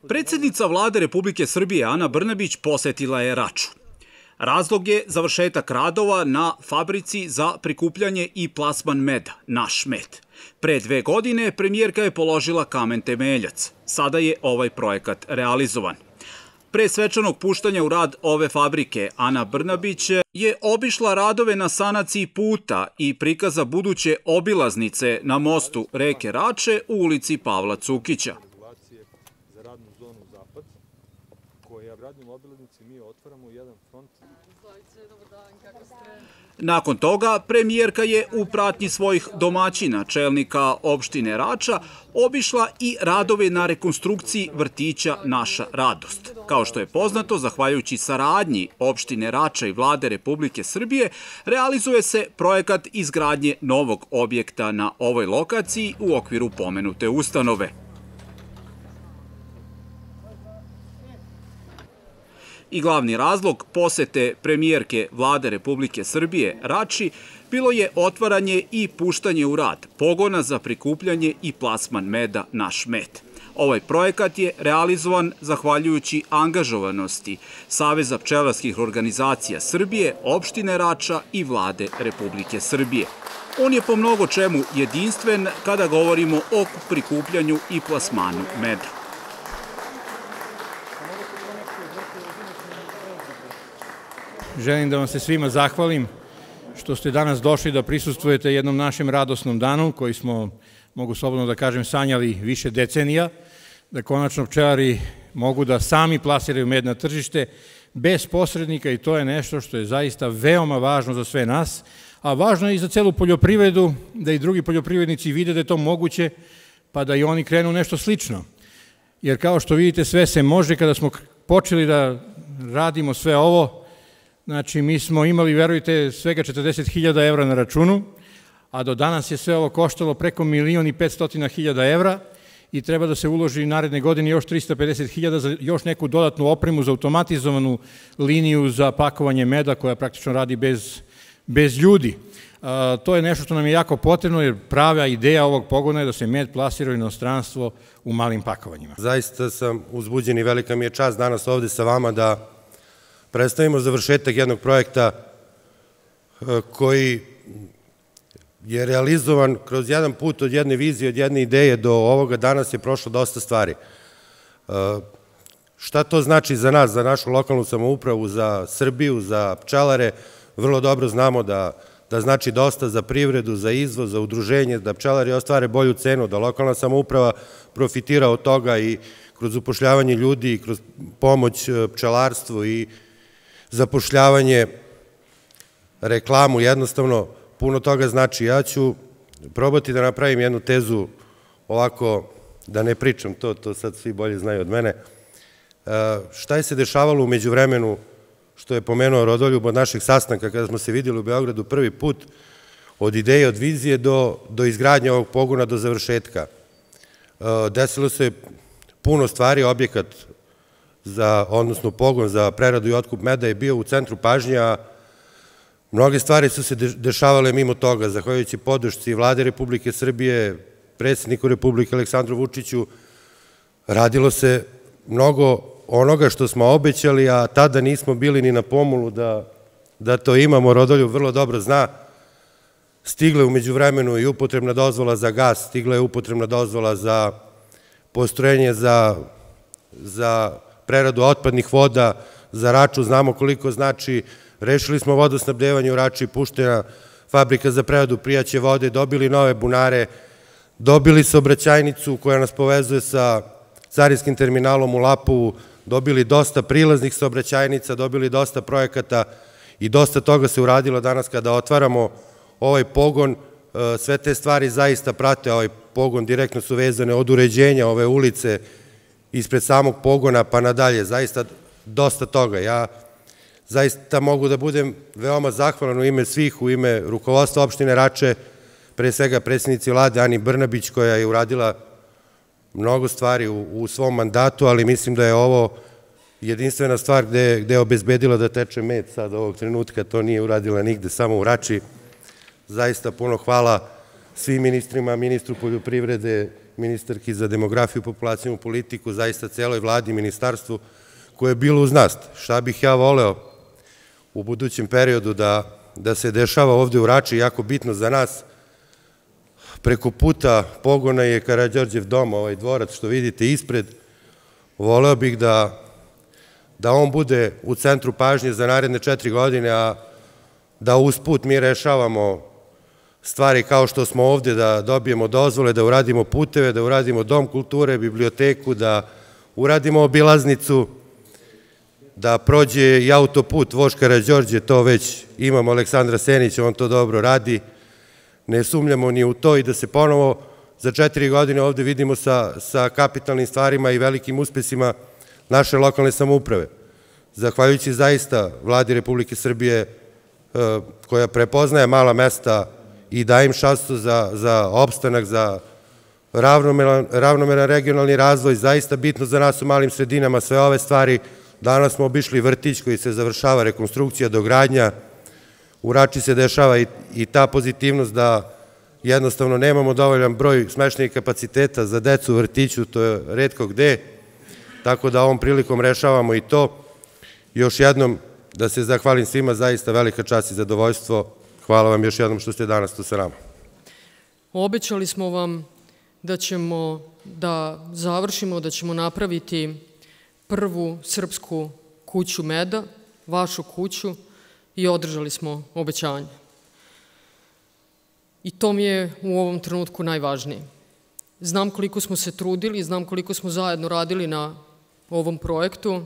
Predsjednica Vlade Republike Srbije Ana Brnabić posetila je Raču. Razlog je završetak radova na fabrici za prikupljanje i plasman meda, Naš med. Pre 2 godine premijerka je položila kamen temeljac. Sada je ovaj projekat realizovan. Pre svečanog puštanja u rad ove fabrike, Ana Brnabić je obišla radove na sanaciji puta i prikaza buduće obilaznice na mostu reke Rače u ulici Pavla Cukića. Za radnu zonu Zapad, koja v radnoj obilaznici mi otvaramo jedan front. Nakon toga, premijerka je u pratnji svojih domaćina, čelnika opštine Rača, obišla i radove na rekonstrukciji vrtića Naša radost. Kao što je poznato, zahvaljujući saradnji opštine Rača i Vlade Republike Srbije, realizuje se projekat izgradnje novog objekta na ovoj lokaciji u okviru pomenute ustanove. I glavni razlog posete premijerke Vlade Republike Srbije Rači bilo je otvaranje i puštanje u rad pogona za prikupljanje i plasman meda Naš med. Ovaj projekat je realizovan zahvaljujući angažovanosti Saveza pčelarskih organizacija Srbije, opštine Rača i Vlade Republike Srbije. On je po mnogo čemu jedinstven kada govorimo o prikupljanju i plasmanu meda. Želim da vam se svima zahvalim što ste danas došli da prisustvujete jednom našem radosnom danu koji smo, mogu slobodno da kažem, sanjali više decenija, da konačno pčelari mogu da sami plasiraju med na tržište bez posrednika i to je nešto što je zaista veoma važno za sve nas, a važno je i za celu poljoprivredu, da i drugi poljoprivrednici vide da je to moguće, pa da i oni krenu nešto slično. Jer kao što vidite, sve se može. Kada smo počeli da radimo sve ovo, znači, mi smo imali, verujte, svega 40.000 evra na računu, a do danas je sve ovo koštalo preko 1.500.000 evra i treba da se uloži naredne godine još 350.000 za još neku dodatnu opremu za automatizovanu liniju za pakovanje meda koja praktično radi bez ljudi. To je nešto što nam je jako potrebno jer prava ideja ovog pogona je da se med plasira u inostranstvo u malim pakovanjima. Zaista sam uzbuđen i velika mi je čast danas ovde sa vama da predstavimo završetak jednog projekta koji je realizovan kroz jedan put od jedne vizije, od jedne ideje do ovoga danas je prošlo dosta stvari. Šta to znači za nas, za našu lokalnu samoupravu, za Srbiju, za pčelare? Vrlo dobro znamo da znači dosta za privredu, za izvoz, za udruženje, da pčelari ostvare bolju cenu, da lokalna samouprava profitira od toga i kroz upošljavanje ljudi, kroz pomoć pčelarstvu i zapošljavanje, reklamu, jednostavno puno toga znači. Ja ću probati da napravim jednu tezu ovako, da ne pričam to sad svi bolje znaju od mene. Šta je se dešavalo u međuvremenu, što je pomenuo Rodoljub od našeg sastanka kada smo se vidjeli u Beogradu prvi put, od ideje, od vizije do izgradnje ovog pogona, do završetka. Desilo se puno stvari, objekat odnosno pogon za preradu i otkup meda je bio u centru pažnje, a mnoge stvari su se dešavale mimo toga. Zahvaljujući podršci Vlade Republike Srbije, predsjedniku Republike Aleksandru Vučiću, radilo se mnogo onoga što smo obećali, a tada nismo bili ni na pomolu da to imamo. Rodoljub vrlo dobro zna. Stigla je u međuvremenu i upotrebna dozvola za gas, stigla je upotrebna dozvola za postrojenje za preradu otpadnih voda, za Raču, znamo koliko znači. Rešili smo vodosnabdevanje u Rači, puštena fabrika za preradu pijaće vode, dobili nove bunare, dobili saobraćajnicu koja nas povezuje sa carinskim terminalom u Lapovu, dobili dosta prilaznih saobraćajnica, dobili dosta projekata i dosta toga se uradilo danas kada otvaramo ovaj pogon. Sve te stvari zaista prate ovaj pogon, direktno su vezane od uređenja ove ulice, ispred samog pogona pa nadalje, zaista dosta toga. Ja zaista mogu da budem veoma zahvalan u ime svih, u ime rukovodstva opštine Rače, pre svega predsjednici Vlade Ani Brnabić koja je uradila mnogo stvari u svom mandatu, ali mislim da je ovo jedinstvena stvar gde je obezbedila da teče med sad ovog trenutka, to nije uradila nigde, samo u Rači. Zaista puno hvala svim ministrima, ministru poljoprivrede, ministarki za demografiju, populacijnu politiku, zaista celoj vladi i ministarstvu koje je bilo uz nas. Šta bih ja voleo u budućem periodu da se dešava ovde u Rači, jako bitno za nas. Preko puta pogona je Karađorđev dom, ovaj dvorac što vidite ispred. Voleo bih da on bude u centru pažnje za naredne 4 godine, a da usput mi rešavamo stvari kao što smo ovde, da dobijemo dozvole, da uradimo puteve, da uradimo dom kulture, biblioteku, da uradimo obilaznicu, da prođe i autoput Vožd Karađorđe, to već imamo Aleksandra Senića, on to dobro radi, ne sumnjamo ni u to i da se ponovo za 4 godine ovde vidimo sa kapitalnim stvarima i velikim uspesima naše lokalne samouprave. Zahvaljujući zaista vladi Republike Srbije koja prepoznaje mala mesta i daje im šansu za opstanak, za ravnomeran regionalni razvoj, zaista bitno za nas u malim sredinama sve ove stvari. Danas smo obišli vrtić koji se završava, rekonstrukcija, dogradnja. U Rači se dešava i ta pozitivnost da jednostavno nemamo dovoljan broj smeštenih kapaciteta za decu u vrtiću, to je retko gde, tako da ovom prilikom rešavamo i to. Još jednom da se zahvalim svima, zaista velika čast i zadovoljstvo. Hvala vam još jednom što ste danas tu sa nama. Obećali smo vam da ćemo da završimo, da ćemo napraviti prvu srpsku kuću meda, vašu kuću, i održali smo obećanje. I to mi je u ovom trenutku najvažnije. Znam koliko smo se trudili, znam koliko smo zajedno radili na ovom projektu.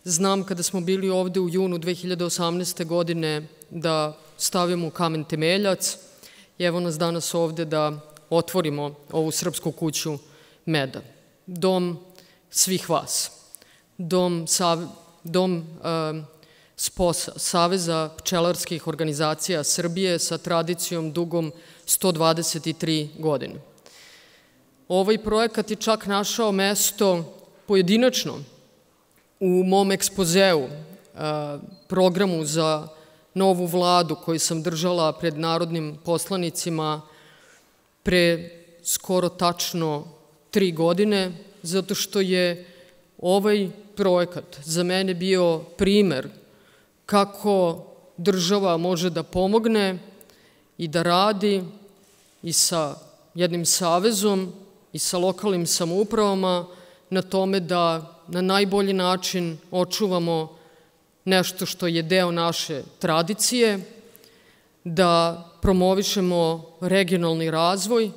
Znam kada smo bili ovde u junu 2018. godine da stavimo kamen temeljac i evo nas danas ovde da otvorimo ovu srpsku kuću meda. Dom svih vas. Dom SPOS-a, Saveza pčelarskih organizacija Srbije sa tradicijom dugom 123 godine. Ovaj projekat je čak našao mesto pojedinačno u mom ekspozeu, programu za novu vladu koju sam držala pred narodnim poslanicima pre skoro tačno 3 godine, zato što je ovaj projekat za mene bio primer kako država može da pomogne i da radi i sa jednim savezom i sa lokalnim samoupravama na tome da na najbolji način očuvamo nešto što je deo naše tradicije, da promovišemo regionalni razvoj,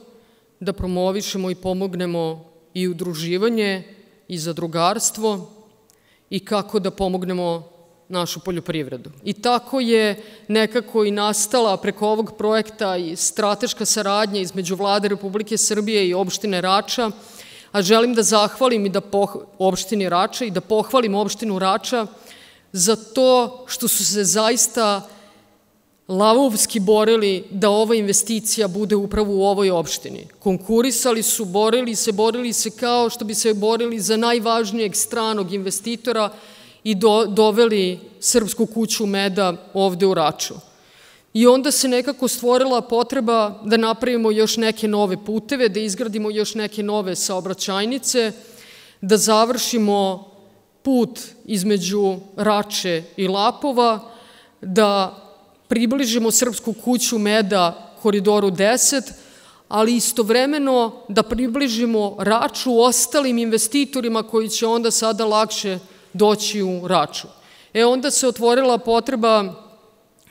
da promovišemo i pomognemo i udruživanje i zadrugarstvo i kako da pomognemo našu poljoprivredu. I tako je nekako i nastala preko ovog projekta i strateška saradnja između Vlade Republike Srbije i opštine Rača, a želim da zahvalim i opštini Rača i da pohvalim opštinu Rača za to što su se zaista lavovski borili da ova investicija bude upravo u ovoj opštini. Konkurisali su, borili se kao što bi se borili za najvažnijeg stranog investitora i doveli srpsku kuću meda ovde u Raču. I onda se nekako stvorila potreba da napravimo još neke nove puteve, da izgradimo još neke nove saobraćajnice, da završimo put između Rače i Lapova, da približimo srpsku kuću meda Koridoru 10, ali istovremeno da približimo Raču ostalim investitorima koji će onda sada lakše doći u Raču. Onda se otvorila potreba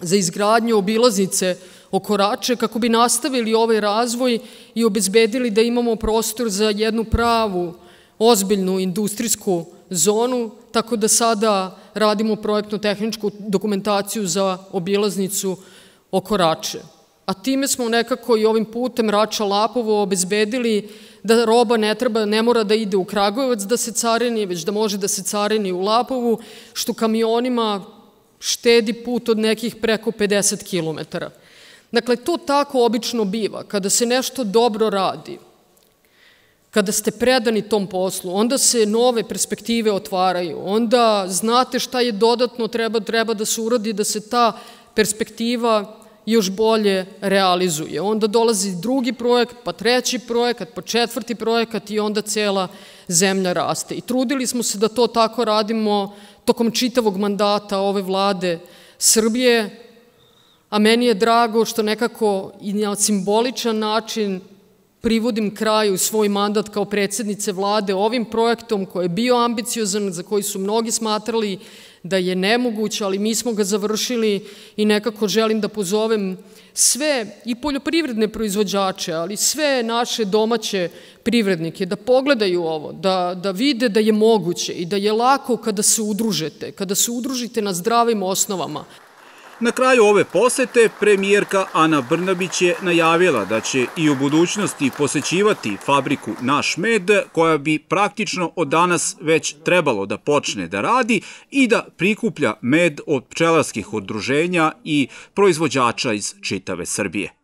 za izgradnju obilaznice oko Rače kako bi nastavili ovaj razvoj i obezbedili da imamo prostor za jednu pravu, ozbiljnu industrijsku zonu, tako da sada radimo projektno-tehničku dokumentaciju za obilaznicu oko Rače. A time smo nekako i ovim putem Rača-Lapovo obezbedili da roba ne mora da ide u Kragujevac da se carini, već da može da se carini u Lapovu, što kamionima štedi put od nekih preko 50 kilometara. Dakle, to tako obično biva. Kada se nešto dobro radi, kada ste predani tom poslu, onda se nove perspektive otvaraju, onda znate šta je dodatno treba da se uradi, da se ta perspektiva još bolje realizuje. Onda dolazi drugi projekat, pa treći projekat, pa četvrti projekat i onda cela zemlja raste. I trudili smo se da to tako radimo tokom čitavog mandata ove vlade Srbije, a meni je drago što nekako i na simboličan način privodim kraju svoj mandat kao predsjednice vlade ovim projektom koji je bio ambiciozan, za koji su mnogi smatrali da je nemoguć, ali mi smo ga završili i nekako želim da pozovem sve i poljoprivredne proizvođače, ali sve naše domaće privrednike da pogledaju ovo, da vide da je moguće i da je lako kada se udružite na zdravim osnovama. Na kraju ove posete premijerka Ana Brnabić je najavila da će i u budućnosti posećivati fabriku Naš med, koja bi praktično od danas već trebalo da počne da radi i da prikuplja med od pčelarskih udruženja i proizvođača iz čitave Srbije.